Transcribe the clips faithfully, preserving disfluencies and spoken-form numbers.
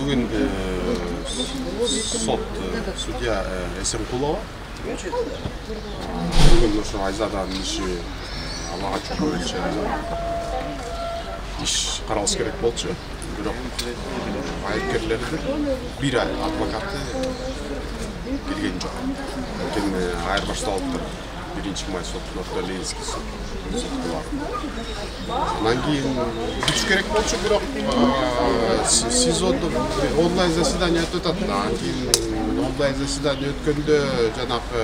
бүгүн сот судья Эсенкулова бүгүн ошо Айзаданын иши ала качуу боюнча иш каралыш керек болчу. Бирок айыпкерлердин бир адвокаты келген жок. Анткени айырбашталыптыр. биринчи май сотуна Ленинский сотко барып. Анан кийин күч керек болчу, бирок СИЗОдо онлайн заседание өтүп атат. Анан кийин онлайн заседание өткөндө жанагы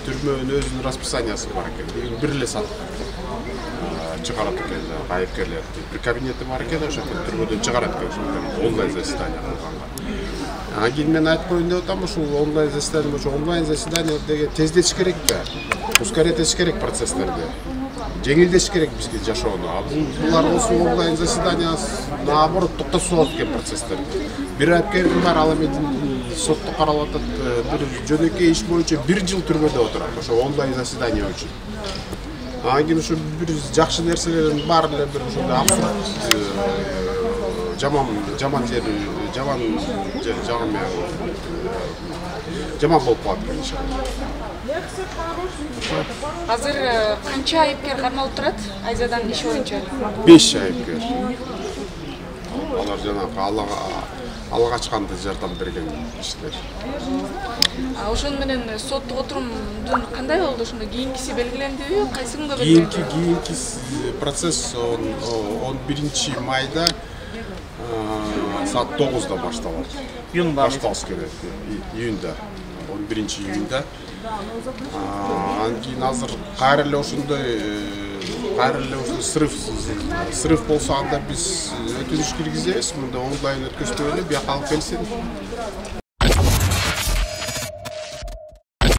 түрмөнүн өзүнүн расписаниясы бар экен. Бир эле саат чыгарат экен айыпкерлер. Бир кабинети бар экен, ошо түрмөдөн чыгарат экен онлайн заседание кылганга. Анан кийин мен айтып коеюн деп атам, ушул онлайн заседание, ошо онлайн заседание деген тездетиш керек да. Ускорить этиш керек процесстерди. Жеңилдетиш керек бизге жашоону. А булар болсо онлайн заседание наоборот токтотуп экен процесстерди. Бир айыпкердин бар, ал эми сотто каралып атат, бир жөнөкөй иш боюнча бир жыл түрмөдө отурат, ошо онлайн заседание үчүн. Анан кийин ушу бир жакшы нерселердин баары эле бир ушундай абсурд, жаман жаман жери, жаман жаман жаман болуп калат экен иш. Азыр канча айыпкер кармалып турат Айзаданын иши боюнча? беш айыпкер. Алар жанагы Аллага Аллага качканды жардам берген иштер. А ошону менен соттук отурумдун кандай болду? Ошондо кийинкиси белгилендиби? Кайсы күнгө белгиленди? Кийинки кийинки процесс он биринчи майда саат тогузда башталат. Башталыш керек. Июнда. он биринчи июнда. Анан кийин азыр кайра эле ошондой кайра эле ошо срыв срыв болсо анда биз өтүнүш киргизебиз. Мында онлайн өткөзбөй эле бияка алып келсин.